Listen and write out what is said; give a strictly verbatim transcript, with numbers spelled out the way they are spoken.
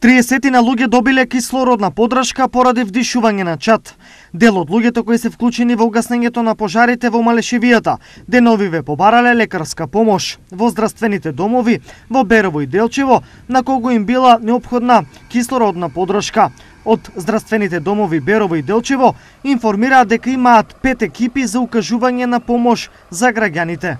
триесет на луѓе добиле кислородна подршка поради вдишување на чад. Дел од луѓето кои се вклучени во угаснењето на пожарите во Малешевијата деновиве побарале лекарска помош во здравствените домови во Берово и Делчево, на кого им била неопходна кислородна подршка. Од здравствените домови Берово и Делчево информираат дека имаат пет екипи за укажување на помош за граѓаните.